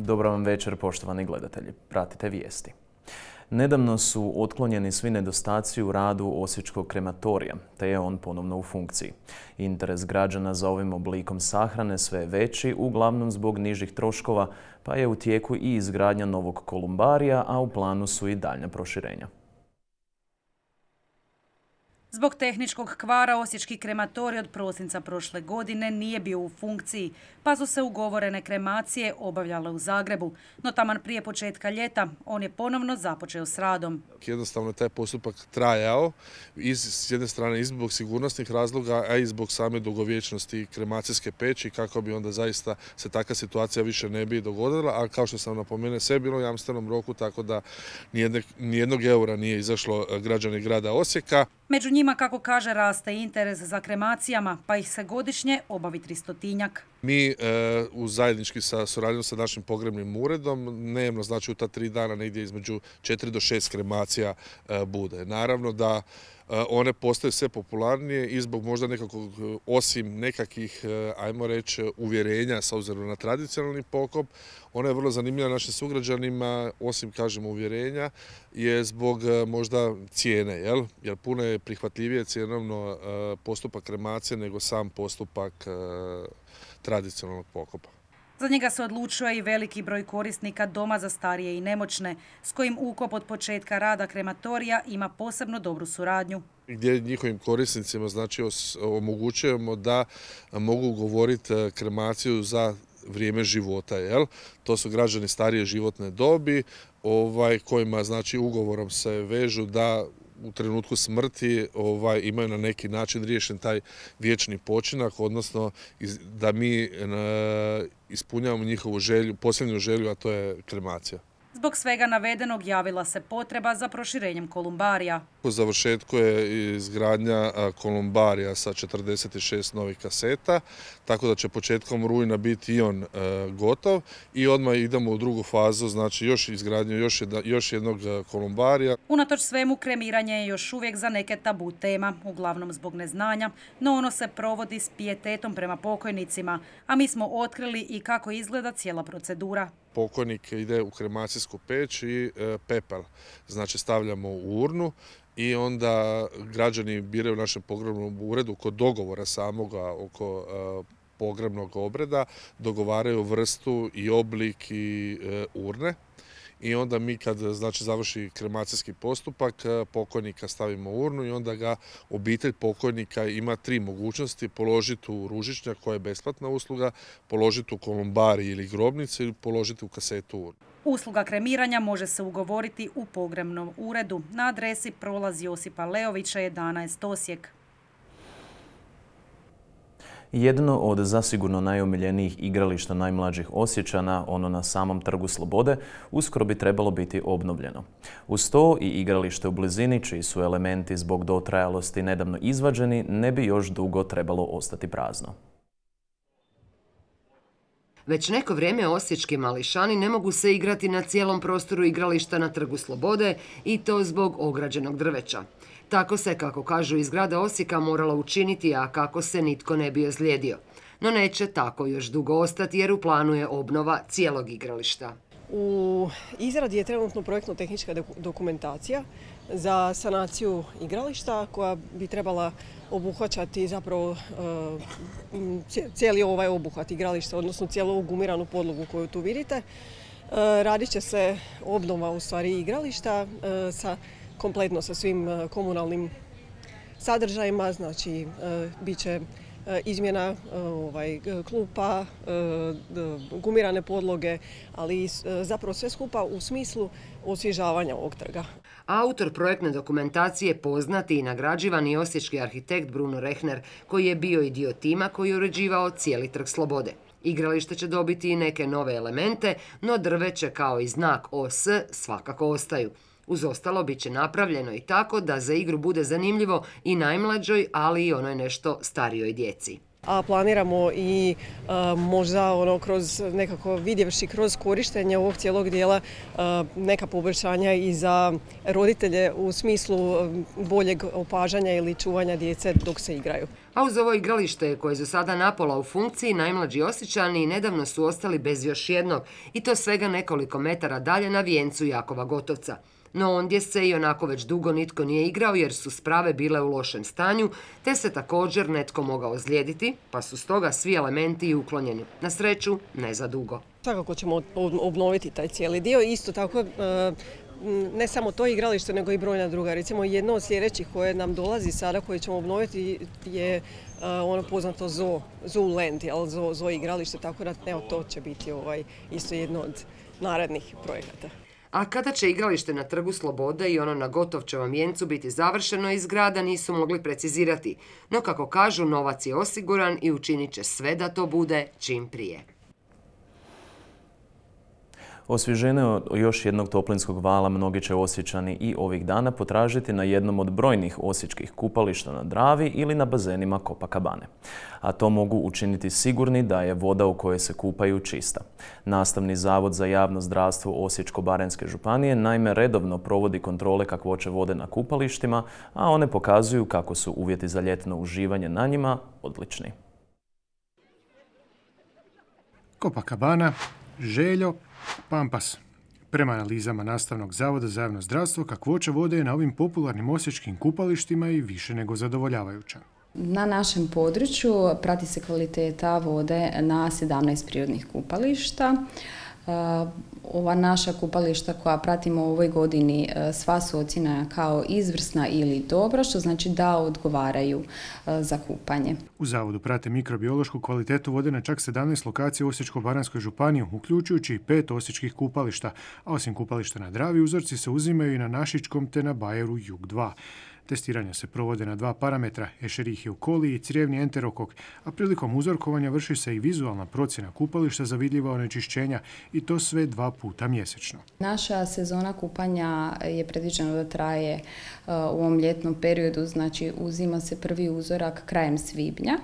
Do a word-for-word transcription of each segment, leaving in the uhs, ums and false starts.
Dobar vam večer, poštovani gledatelji. Pratite vijesti. Nedavno su otklonjeni svi nedostaci u radu osječkog krematorija, te je on ponovno u funkciji. Interes građana za ovim oblikom sahrane sve je veći, uglavnom zbog nižih troškova, pa je u tijeku i izgradnja novog kolumbarija, a u planu su i daljnja proširenja. Zbog tehničkog kvara osječki krematorij od prosinca prošle godine nije bio u funkciji, pa su se ugovorene kremacije obavljale u Zagrebu. No taman prije početka ljeta on je ponovno započeo s radom. Jednostavno je taj postupak trajao, iz, s jedne strane i zbog sigurnosnih razloga, a i zbog same dugovječnosti kremacijske peći, kako bi onda zaista se takva situacija više ne bi dogodila, a kao što sam napomenuo, sve je bilo u jamstvenom roku, tako da nijedne, nijednog eura nije izašlo građani grada Osijeka. Među njima, kako kaže, raste interes za kremacijama, pa ih se godišnje obavi tristotinjak. Mi e, u zajednički sa suradnjom sa našim pogrebnim uredom dnevno, znači u ta tri dana negdje između četiri do šest kremacija e, bude. Naravno da e, one postaju sve popularnije i zbog možda nekakvog, osim nekakvih, e, ajmo reći, uvjerenja s obzirom na tradicionalni pokop, ona je vrlo zanimljiva našim sugrađanima, osim, kažemo, uvjerenja, je zbog e, možda cijene, jel? Jer puno je prihvatljivije cjenovno e, postupak kremacije nego sam postupak e, tradicionalnog pokopa. Za njega se odlučuje i veliki broj korisnika doma za starije i nemoćne, s kojim ukop od početka rada krematorija ima posebno dobru suradnju. Gdje njihovim korisnicima znači omogućujemo da mogu ugovoriti kremaciju za vrijeme života, jel? To su građani starije životne dobi, ovaj, kojima znači ugovorom se vežu da u trenutku smrti ovaj, imaju na neki način riješen taj vječni počinak, odnosno iz, da mi e, ispunjavamo njihovu želju, posljednju želju, a to je kremacija. Zbog svega navedenog javila se potreba za proširenjem kolumbarija. U završetku je izgradnja kolumbarija sa četrdeset šest novih kaseta, tako da će početkom rujna biti i on e, gotov i odmah idemo u drugu fazu, znači još izgradnju još, jedna, još jednog kolumbarija. Unatoč svemu, kremiranje je još uvijek za neke tabu tema, uglavnom zbog neznanja, no ono se provodi s pijetetom prema pokojnicima, a mi smo otkrili i kako izgleda cijela procedura. Pokojnik ide u kremacijsku peć i e, pepel, znači stavljamo u urnu i onda građani biraju u našem pogrebnom uredu kod dogovora samoga oko e, pogrebnog obreda, dogovaraju vrstu i oblik i e, urne. I onda mi kad znači, završi kremacijski postupak, pokojnika stavimo u urnu i onda ga obitelj pokojnika ima tri mogućnosti: položiti u ružičnjak, koja je besplatna usluga, položiti u kolumbarij ili grobnicu ili položiti u kasetu urnu. Usluga kremiranja može se ugovoriti u pogrebnom uredu na adresi Prolaz Josipa Leovića jedanaest Osijek. Jedno od zasigurno najomiljenijih igrališta najmlađih Osječana, ono na samom Trgu Slobode, uskoro bi trebalo biti obnovljeno. Uz to i igralište u blizini, čiji su elementi zbog dotrajalosti nedavno izvađeni, ne bi još dugo trebalo ostati prazno. Već neko vrijeme osječki mališani ne mogu se igrati na cijelom prostoru igrališta na Trgu Slobode i to zbog ograđenog drveća. Tako se, kako kažu iz grada Osijeka, moralo učiniti, a kako se nitko ne bi ozlijedio. No neće tako još dugo ostati jer u planu je obnova cijelog igrališta. U izradi je trenutno projektno-tehnička dokumentacija za sanaciju igrališta koja bi trebala obuhvaćati zapravo cijeli ovaj obuhvat igrališta, odnosno cijelu ovu gumiranu podlogu koju tu vidite. Radit će se obnova u stvari igrališta sa kompletno sa svim komunalnim sadržajima, znači bit će izmjena ovaj, klupa, gumirane podloge, ali zapravo sve skupa u smislu osvježavanja ovog trga. Autor projektne dokumentacije poznati i nagrađivani osječki arhitekt Bruno Rehner, koji je bio i dio tima koji je uređivao cijeli Trg Slobode. Igralište će dobiti i neke nove elemente, no drveće kao i znak O S svakako ostaju. Uz ostalo bit će napravljeno i tako da za igru bude zanimljivo i najmlađoj, ali i onoj nešto starijoj djeci. a planiramo i možda ono kroz nekako vidjevši kroz korištenje ovog cijelog dijela neka poboljšanja i za roditelje u smislu boljeg opažanja ili čuvanja djece dok se igraju. A uz ovo igralište koje su sada napola u funkciji, najmlađi Osječani nedavno su ostali bez još jednog i to svega nekoliko metara dalje na vijencu Jakova Gotovca. No ondje se i onako već dugo nitko nije igrao jer su sprave bile u lošem stanju, te se također netko mogao ozlijediti, pa su stoga svi elementi uklonjeni. Na sreću, ne za dugo. Svakako ćemo obnoviti taj cijeli dio. Isto tako, ne samo to igralište, nego i brojna druga. Recimo, jedno od sljedećih koje nam dolazi sada, koje ćemo obnoviti, je ono poznato Zoo, Zoo Land, Zoo, Zoo igralište, tako da evo, to će biti ovaj, isto jedno od narednih projekata. A kada će igralište na Trgu Slobode i ono na Gotovčevom vijencu biti završeno iz grada nisu mogli precizirati. No kako kažu, novac je osiguran i učinit će sve da to bude čim prije. Osvježenje od još jednog toplinskog vala mnogi će Osječani i ovih dana potražiti na jednom od brojnih osječkih kupališta na Dravi ili na bazenima Copacabane. A to mogu učiniti sigurni da je voda u kojoj se kupaju čista. Nastavni zavod za javno zdravstvo Osječko-baranjske županije naime redovno provodi kontrole kakvoće vode na kupalištima, a one pokazuju kako su uvjeti za ljetno uživanje na njima odlični. Copacabana, Željo, Pampas. Prema analizama Nastavnog zavoda za javno zdravstvo, kakvoća vode je na ovim popularnim osječkim kupalištima i više nego zadovoljavajuća. Na našem području prati se kvaliteta vode na sedamnaest prirodnih kupališta. Ova naša kupališta koja pratimo u ovoj godini sva su ocjenjena kao izvrsna ili dobra, što znači da odgovaraju za kupanje. U zavodu prate mikrobiološku kvalitetu vode na čak sedamnaest lokacija u Osječko-baranjskoj županiji, uključujući i pet osječkih kupališta, a osim kupališta na Dravi, uzorci se uzimaju i na Našičkom te na Bajeru Jug dva. Testiranja se provode na dva parametra, Escherichia coli i crijevni enterokok, a prilikom uzorkovanja vrši se i vizualna procjena kupališta za vidljiva onečišćenja i to sve dva puta mjesečno. Naša sezona kupanja je predviđena da traje u ovom ljetnom periodu, znači uzima se prvi uzorak krajem svibnja.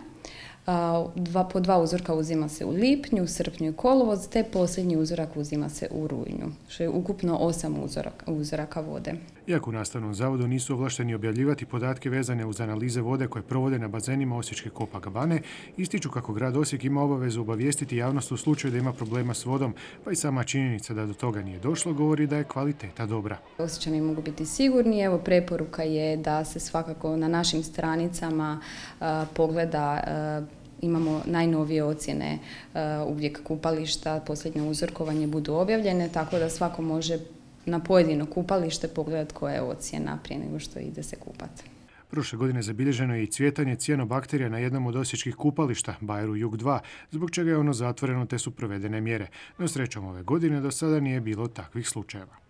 Dva, po dva uzorka uzima se u lipnju, srpnju i kolovoz, te posljednji uzorak uzima se u rujnu, što je ukupno osam uzoraka, uzoraka vode. Iako u Nastavnom zavodu nisu ovlašteni objavljivati podatke vezane uz analize vode koje provode na bazenima Osječke Copacabane, ističu kako grad Osijek ima obavezu obavijestiti javnost u slučaju da ima problema s vodom, pa i sama činjenica da do toga nije došlo govori da je kvaliteta dobra. Osječani mogu biti sigurni, evo preporuka je da se svakako na našim stranicama uh, pogleda uh, Imamo najnovije ocjene uh, uvijek kupališta, posljednje uzorkovanje budu objavljene, tako da svako može na pojedino kupalište pogledati koja je ocjena prije nego što ide se kupati. Prošle godine zabilježeno je i cvjetanje cijanobakterija na jednom od osječkih kupališta, Bajeru Jug dva, zbog čega je ono zatvoreno te su provedene mjere. No srećom ove godine do sada nije bilo takvih slučajeva.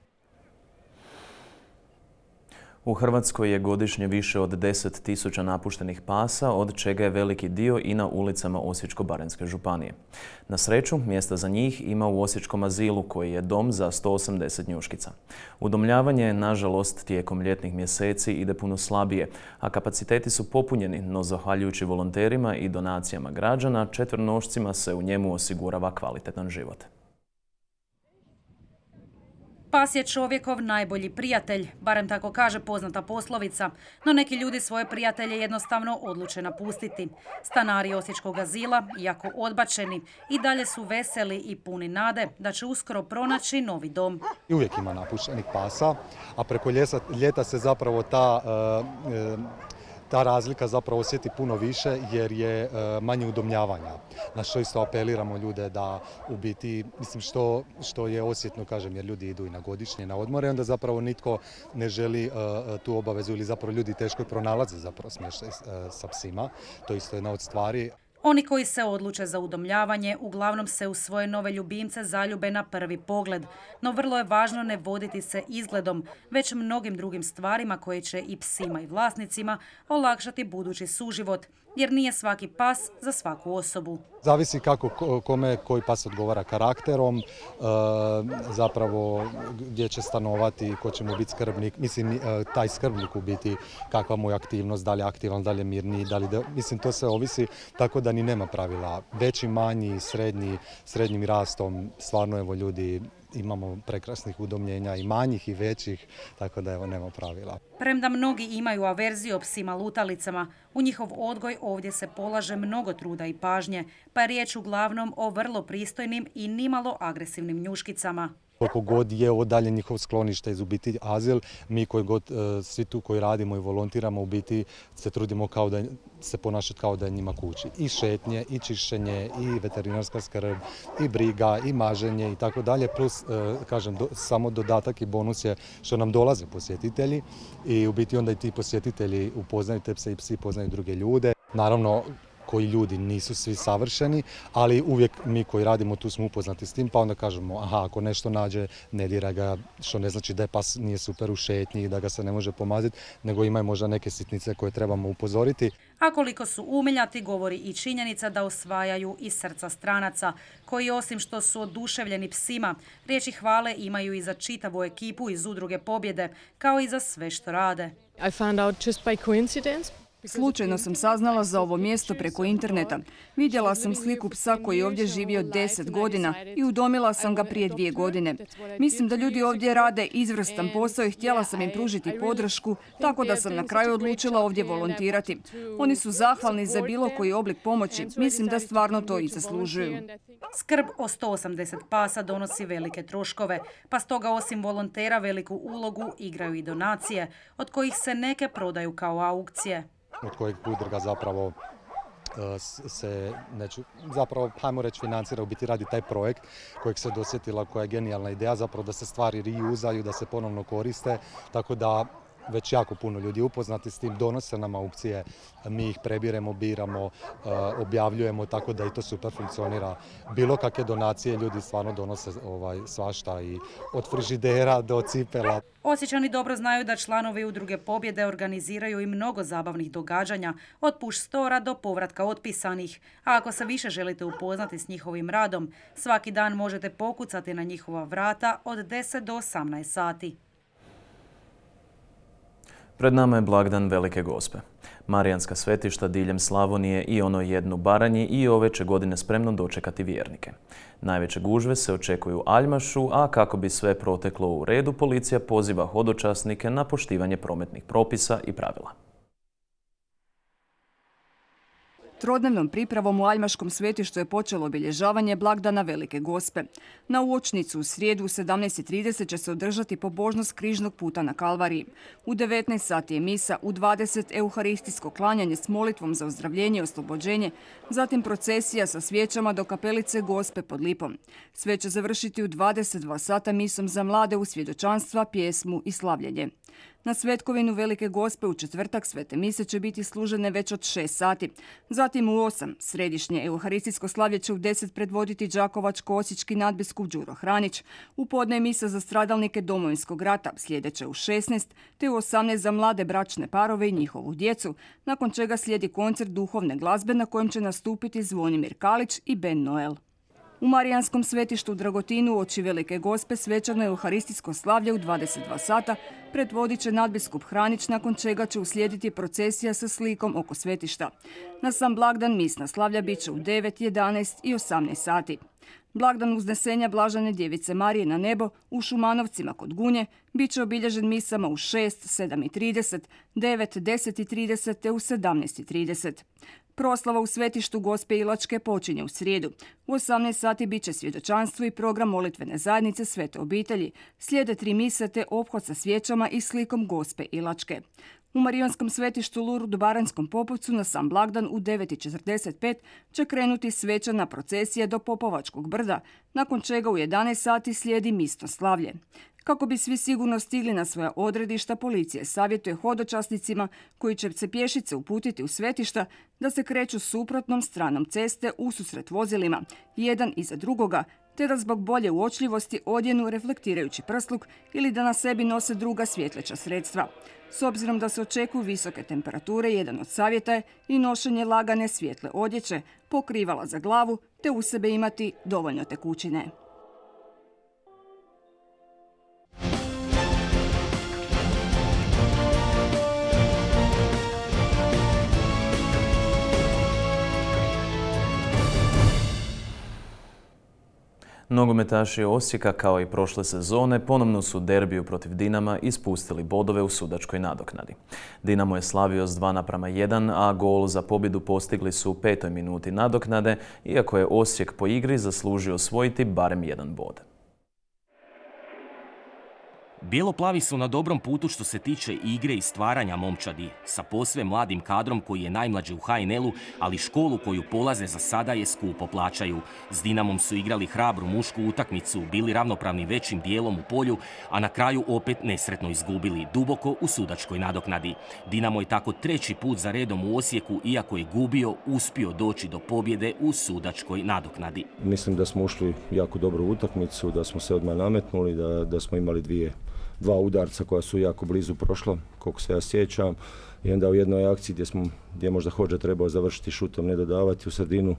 U Hrvatskoj je godišnje više od deset tisuća napuštenih pasa, od čega je veliki dio i na ulicama Osječko-baranjske županije. Na sreću, mjesta za njih ima u Osječkom azilu, koji je dom za sto osamdeset njuškica. Udomljavanje, nažalost, tijekom ljetnih mjeseci ide puno slabije, a kapaciteti su popunjeni, no zahvaljujući volonterima i donacijama građana, četvernošcima se u njemu osigurava kvalitetan život. Pas je čovjekov najbolji prijatelj, barem tako kaže poznata poslovica, no neki ljudi svoje prijatelje jednostavno odluče napustiti. Stanari Osječkog azila, iako odbačeni, i dalje su veseli i puni nade da će uskoro pronaći novi dom. I uvijek ima napuštenih pasa, a preko ljeta se zapravo ta... Uh, uh, Ta razlika zapravo osjeti puno više jer je manje udomljavanja. Na što isto apeliramo ljude da u biti, mislim što, što je osjetno, kažem, jer ljudi idu i na godišnje, na odmore, onda zapravo nitko ne želi uh, tu obavezu ili zapravo ljudi teško pronalaze zapravo smještaj uh, sa psima. To je isto jedna od stvari. Oni koji se odluče za udomljavanje uglavnom se u svoje nove ljubimce zaljube na prvi pogled, no vrlo je važno ne voditi se izgledom, već mnogim drugim stvarima koje će i psima i vlasnicima olakšati budući suživot, jer nije svaki pas za svaku osobu. Zavisi kako kome koji pas odgovara karakterom, zapravo gdje će stanovati, ko će mu biti skrbnik. Mislim, taj skrbnik u biti kakva mu je aktivnost, da li je aktivan, da li je mirniji, da li da, mislim to sve ovisi, tako da ni nema pravila. Veći, manji, srednji, srednjim rastom, stvarno evo ljudi imamo prekrasnih udomljenja i manjih i većih, tako da evo nema pravila. Premda mnogi imaju averziju o psima lutalicama, u njihov odgoj ovdje se polaže mnogo truda i pažnje, pa je riječ uglavnom o vrlo pristojnim i nimalo agresivnim njuškicama. Koliko god je odalje njihov sklonište iz u biti azil, mi koji god, svi tu koji radimo i volontiramo u biti se trudimo kao da se ponašati kao da je njima kući. I šetnje, i čišćenje, i veterinarska skrb, i briga, i maženje i tako dalje. Plus, kažem, do, samo dodatak i bonus je što nam dolaze posjetitelji i u biti onda i ti posjetitelji upoznaju te pse i psi poznaju druge ljude. Naravno, koji ljudi nisu svi savršeni, ali uvijek mi koji radimo tu smo upoznati s tim, pa onda kažemo aha, ako nešto nađe, ne dira ga, što ne znači da je pas nije super u šetnji i da ga se ne može pomaziti, nego ima možda neke sitnice koje trebamo upozoriti. A koliko su umiljati govori i činjenica da osvajaju i srca stranaca, koji osim što su oduševljeni psima, riječi hvale imaju i za čitavu ekipu iz Udruge Pobjede, kao i za sve što rade. I found out just by coincidence. Slučajno sam saznala za ovo mjesto preko interneta. Vidjela sam sliku psa koji je ovdje živio deset godina i udomila sam ga prije dvije godine. Mislim da ljudi ovdje rade izvrstan posao i htjela sam im pružiti podršku, tako da sam na kraju odlučila ovdje volontirati. Oni su zahvalni za bilo koji oblik pomoći. Mislim da stvarno to i zaslužuju. Skrb o sto osamdeset pasa donosi velike troškove, pa stoga osim volontera veliku ulogu igraju i donacije, od kojih se neke prodaju kao aukcije. Od kojeg udruga zapravo se, neću, zapravo, hajmo reći, financira, u biti radi taj projekt kojeg se dosjetila, koja je genijalna ideja, zapravo da se stvari reuzaju, da se ponovno koriste, tako da već jako puno ljudi upoznati s tim, donose nam aukcije, mi ih prebiremo, biramo, objavljujemo, tako da i to super funkcionira. Bilo kakve donacije ljudi stvarno donose ovaj, svašta, i od frižidera do cipela. Osječani dobro znaju da članovi Udruge Pobjede organiziraju i mnogo zabavnih događanja, od push stora do povratka otpisanih. A ako se više želite upoznati s njihovim radom, svaki dan možete pokucati na njihova vrata od deset do osamnaest sati. Pred nama je blagdan Velike Gospe. Marijanska svetišta diljem Slavonije i ono jednu Baranji i ove će godine spremno dočekati vjernike. Najveće gužve se očekuju u Aljmašu, a kako bi sve proteklo u redu, policija poziva hodočasnike na poštivanje prometnih propisa i pravila. Trodnevnom pripravom u Aljmaškom svetištu je počelo obilježavanje blagdana Velike Gospe. Na uočnicu u srijedu u sedamnaest i trideset će se održati pobožnost križnog puta na Kalvariji. U devetnaest sati je misa, u dvadeset euharistijsko klanjanje s molitvom za ozdravljenje i oslobođenje, zatim procesija sa svijećama do kapelice Gospe pod Lipom. Sve će završiti u dvadeset dva sata misom za mlade u svjedočanstva, pjesmu i slavljenje. Na Svetkovinu Velike Gospe u četvrtak svete mise će biti služene već od šest sati. Zatim u osam središnje euharistijsko slavlje će u deset predvoditi đakovačko-osječki nadbiskup Đuro Hranić. U podne misa za stradalnike Domovinskog rata sljedeće u šesnaest, te u osamnaest za mlade bračne parove i njihovu djecu, nakon čega slijedi koncert duhovne glazbe na kojem će nastupiti Zvonimir Kalić i Ben Noel. U Marijanskom svetištu u Dragotinu uoči Velike Gospe svečano euharistijsko slavlje u dvadeset dva sata predvodit će nadbiskup Hranić, nakon čega će uslijediti procesija sa slikom oko svetišta. Na sam blagdan misna slavlja bit će u devet, jedanaest i osamnaest sati. Blagdan uznesenja Blažene djevice Marije na nebo u Šumanovcima kod Gunje bit će obilježen misama u šest, sedam i trideset, devet, deset i trideset te u sedamnaest i trideset. Proslava u svetištu Gospe Ilačke počinje u srijedu. U osamnaest sati bit će svjedočanstvo i program molitvene zajednice Svete obitelji. Slijede tri mise te ophod sa svijećama i slikom Gospe Ilačke. U Marijanskom svetištu Lurdu Baranjskom Popovcu na sam blagdan u devet i četrdeset pet će krenuti svečana procesija do Popovačkog brda, nakon čega u jedanaest sati slijedi misno slavlje. Kako bi svi sigurno stigli na svoja odredišta, policija savjetuje hodočasnicima koji će se pješice uputiti u svetišta da se kreću suprotnom stranom ceste ususret vozilima, jedan iza drugoga, te da zbog bolje uočljivosti odjenu reflektirajući prsluk ili da na sebi nose druga svjetleća sredstva. S obzirom da se očekuju visoke temperature, jedan od savjeta je i nošenje lagane svijetle odjeće, pokrivala za glavu, te u sebe imati dovoljno tekućine. Nogometaši Osijeka, kao i prošle sezone, ponovno su derbiju protiv Dinama ispustili bodove u sudačkoj nadoknadi. Dinamo je slavio s dva naprama jedan, a gol za pobjedu postigli su u petoj minuti nadoknade, iako je Osijek po igri zaslužio osvojiti barem jedan bod. Bijeloplavi su na dobrom putu što se tiče igre i stvaranja momčadi, sa posve mladim kadrom koji je najmlađi u ha en el-u, ali školu koju polaze za sada je skupo plaćaju. S Dinamom su igrali hrabru mušku utakmicu, bili ravnopravni većim dijelom u polju, a na kraju opet nesretno izgubili, duboko u sudačkoj nadoknadi. Dinamo je tako treći put za redom u Osijeku, iako je gubio, uspio doći do pobjede u sudačkoj nadoknadi. Mislim da smo ušli jako dobru utakmicu, da smo se odmah nametnuli, da, da smo imali dvije dva udarca koja su jako blizu prošla, koliko se ja sjećam. I onda u jednoj akciji gdje, smo, gdje je možda Hodža trebao završiti šutom, ne dodavati u sredinu,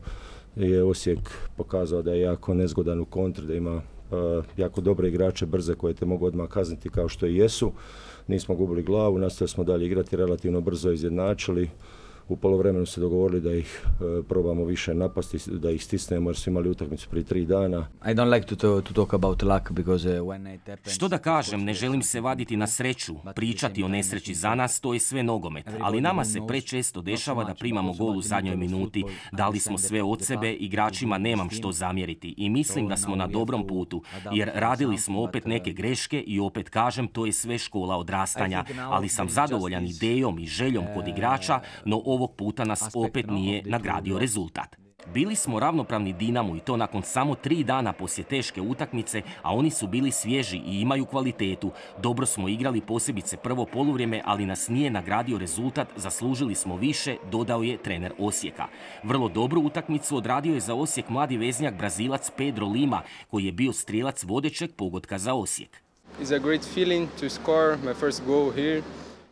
je Osijek pokazao da je jako nezgodan u kontri, da ima uh, jako dobre igrače, brze, koje te mogu odmah kazniti kao što i jesu. Nismo gubili glavu, nastavili smo dalje igrati, relativno brzo izjednačili. U poluvremenu se dogovorili da ih e, probamo više napasti, da ih stisnemo jer su imali utakmicu prije tri dana. Što da kažem, ne želim se vaditi na sreću, pričati o nesreći za nas, to je sve nogomet. Ali nama se prečesto dešava da primamo gol u zadnjoj minuti. Dali smo sve od sebe, igračima nemam što zamjeriti i mislim da smo na dobrom putu, jer radili smo opet neke greške i opet kažem, to je sve škola odrastanja. Ali sam zadovoljan idejom i željom kod igrača, no ovog puta nas opet nije nagradio rezultat. Bili smo ravnopravni Dinamu i to nakon samo tri dana poslije teške utakmice, a oni su bili svježi i imaju kvalitetu. Dobro smo igrali, posebice prvo poluvrijeme, ali nas nije nagradio rezultat, zaslužili smo više, dodao je trener Osijeka. Vrlo dobru utakmicu odradio je za Osijek mladi veznjak Brazilac Pedro Lima, koji je bio strijelac vodećeg pogotka za Osijek. It's a great feeling to score my first goal here.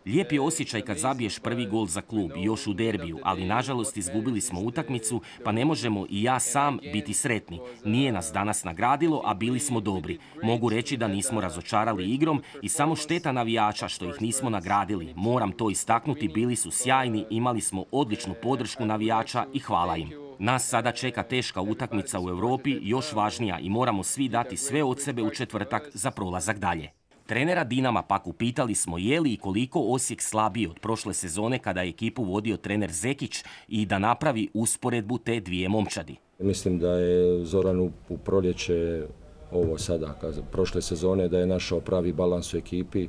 Lijep je osjećaj kad zabiješ prvi gol za klub i još u derbiju, ali nažalost izgubili smo utakmicu, pa ne možemo i ja sam biti sretni. Nije nas danas nagradilo, a bili smo dobri. Mogu reći da nismo razočarali igrom i samo šteta navijača što ih nismo nagradili. Moram to istaknuti, bili su sjajni, imali smo odličnu podršku navijača i hvala im. Nas sada čeka teška utakmica u Europi, još važnija, i moramo svi dati sve od sebe u četvrtak za prolazak dalje. Trenera Dinama pak upitali smo je li i koliko Osijek slabiji od prošle sezone kada je ekipu vodio trener Zekić i da napravi usporedbu te dvije momčadi. Mislim da je Zoran u, u proljeće, ovo sada, prošle sezone, da je našao pravi balans u ekipi,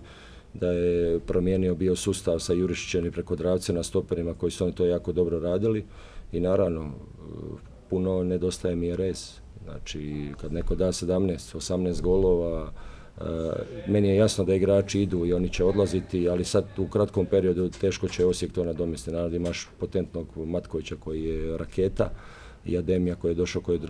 da je promijenio bio sustav sa Jurišićem i preko Dravce na stoperima koji su oni to jako dobro radili i naravno puno nedostaje mi je rez. Znači kad neko da sedamnaest osamnaest golova, Uh, meni je jasno da igrači idu i oni će odlaziti, ali sad u kratkom periodu teško će Osijek to nadomjestiti. Naravno imaš potentnog Matkovića koji je raketa i Ademija koji je došao, koji je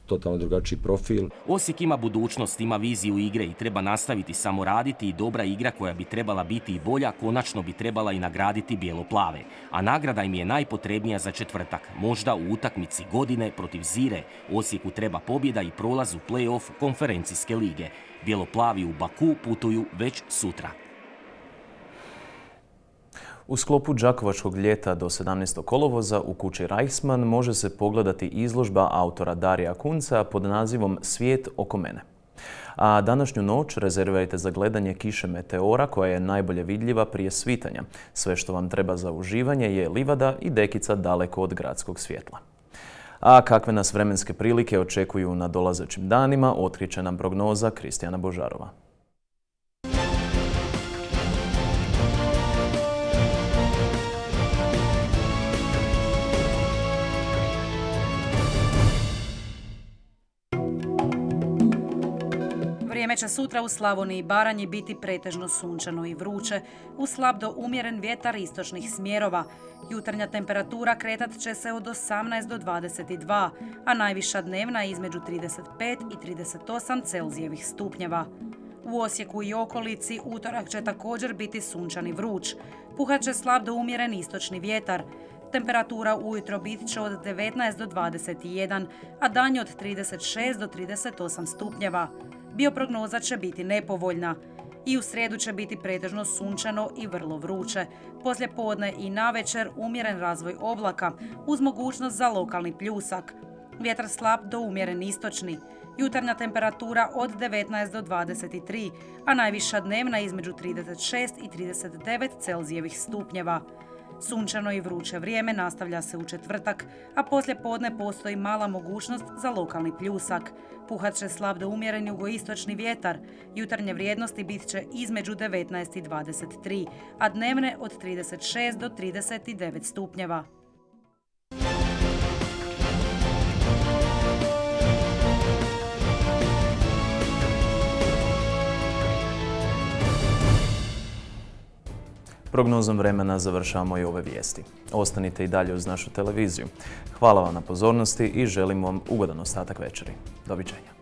totalno drugačiji profil. Osijek ima budućnost, ima viziju igre i treba nastaviti samo raditi i dobra igra koja bi trebala biti i bolja, konačno bi trebala i nagraditi bijeloplave. A nagrada im je najpotrebnija za četvrtak. Možda u utakmici godine protiv Zire Osijeku treba pobjeda i prolaz u play-off konferencijske lige. Bijeloplavi u Baku putuju već sutra. U sklopu Đakovačkog ljeta do sedamnaestog kolovoza u kući Reichsmann može se pogledati izložba autora Darija Kunca pod nazivom Svijet oko mene. A današnju noć rezervirajte za gledanje kiše meteora koja je najbolje vidljiva prije svitanja. Sve što vam treba za uživanje je livada i dekica daleko od gradskog svjetla. A kakve nas vremenske prilike očekuju na dolazećim danima, otkriće nam prognoza Kristijana Božarova. Vrijeme će sutra u Slavoniji i Baranji biti pretežno sunčano i vruće, uz slab do umjeren vjetar istočnih smjerova. Jutarnja temperatura kretat će se od osamnaest do dvadeset dva, a najviša dnevna između trideset pet i trideset osam Celzijevih stupnjeva. U Osijeku i okolici utorak će također biti sunčan i vruć. Puhat će slab do umjeren istočni vjetar. Temperatura ujutro bit će od devetnaest do dvadeset jedan, a danju od trideset šest do trideset osam stupnjeva. Bioprognoza će biti nepovoljna. I u srijedu će biti pretežno sunčano i vrlo vruće. Poslije podne i navečer umjeren razvoj oblaka uz mogućnost za lokalni pljusak. Vjetar slab do umjeren istočni. Jutarnja temperatura od devetnaest do dvadeset tri, a najviša dnevna između trideset šest i trideset devet Celzijevih stupnjeva. Sunčano i vruće vrijeme nastavlja se u četvrtak, a poslije podne postoji mala mogućnost za lokalni pljusak. Puhat će slab do umjeren jugoistočni vjetar. Jutarnje vrijednosti bit će između devetnaest i dvadeset tri, a dnevne od trideset šest do trideset devet stupnjeva. Prognozom vremena završavamo i ove vijesti. Ostanite i dalje uz našu televiziju. Hvala vam na pozornosti i želim vam ugodan ostatak večeri. Doviđenja.